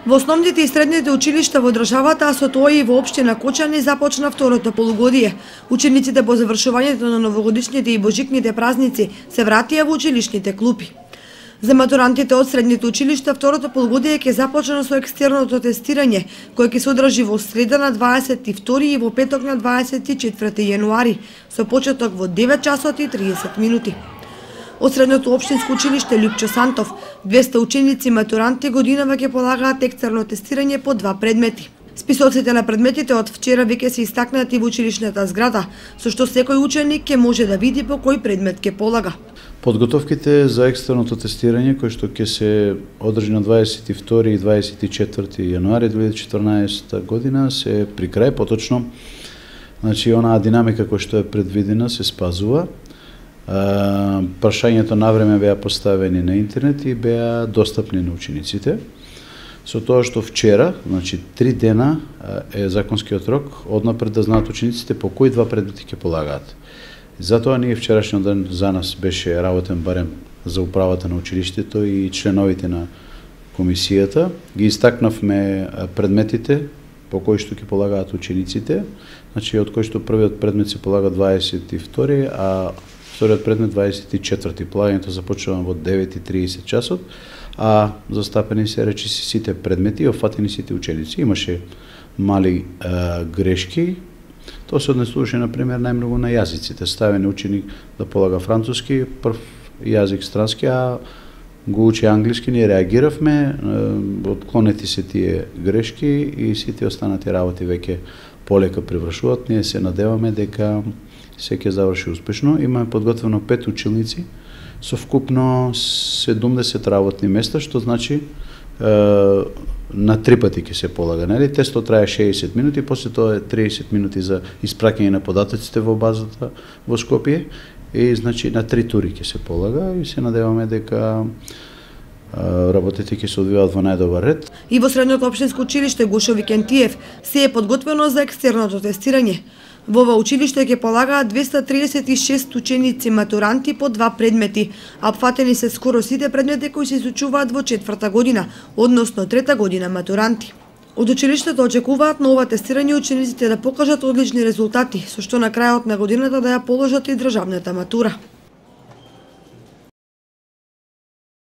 Во основните и средните училишта во државата, а со тоа и во општина Кочани започна второто полугодие. Учениците по завршувањето на новогодишните и божикните празници се вратија во училишните клупи. За матурантите од средните училишта второто полугодие ќе започне со екстерното тестирање, кое ќе се одржи во среда на 22 и во петок на 24 јануари, со почеток во 9 часот и 30 минути. Од средното општинско училиште Лјупчо Сантов, 200 ученици матуранти годинава ќе полагаат екстерно тестирање по 2 предмети. Списоците на предметите од вчера веќе се истакнати во училишната зграда, со што секој ученик ќе може да види по кој предмет ќе полага. Подготовките за екстерното тестирање, кој што ќе се одржи на 22 и 24 јануари 2014 година, се при крај, поточно, значи онаа динамика која што е предвидена се спазува. Прашањето навреме беа поставени на интернет и беа достапни на учениците. Со тоа што вчера, значи 3 дена е законскиот рок, однапред да знаат учениците по кои 2 предмети ќе полагаат. Затоа ние вчерашниот ден за нас беше работен барем за управата на училиштето и членовите на комисијата. Ги истакнавме предметите по кои што ќе полагаат учениците, значи од кои што првиот предмет се полага 22, а вториот предмет 24. Полагањето започнува во 9:30 часот, а застапени се речиси сите предмети и офатени сите ученици. Имаше мали грешки. Тоа се однесуваше, например, најмногу на јазиците. Ставен ученик да полага француски, прв јазик странски, а го учи англиски. Ние реагиравме, отклонети се тие грешки и сите останати работи веќе полека привршуваат. Ние се надеваме дека се ќе заврши успешно. Имаме подготвено 5 училници со вкупно 70 работни места, што значи на 3 пати ќе се полага, нели? Тестот трае 60 минути, после тоа е 30 минути за испраќање на податоците во базата во Скопје и значи на 3 тури ќе се полага и се надеваме дека работите ќе се одвиваат во најдобар ред. И во средното општинско училиште Гушо Викентиев се е подготвено за екстерното тестирање. Во ова училиште ќе полагаат 236 ученици матуранти по 2 предмети, а опфатени се скоро сите предмети кои се изучуваат во 4-та година, односно 3-та година матуранти. Од училиштето очекуваат на ова тестирање учениците да покажат одлични резултати, со што на крајот на годината да ја положат и државната матура.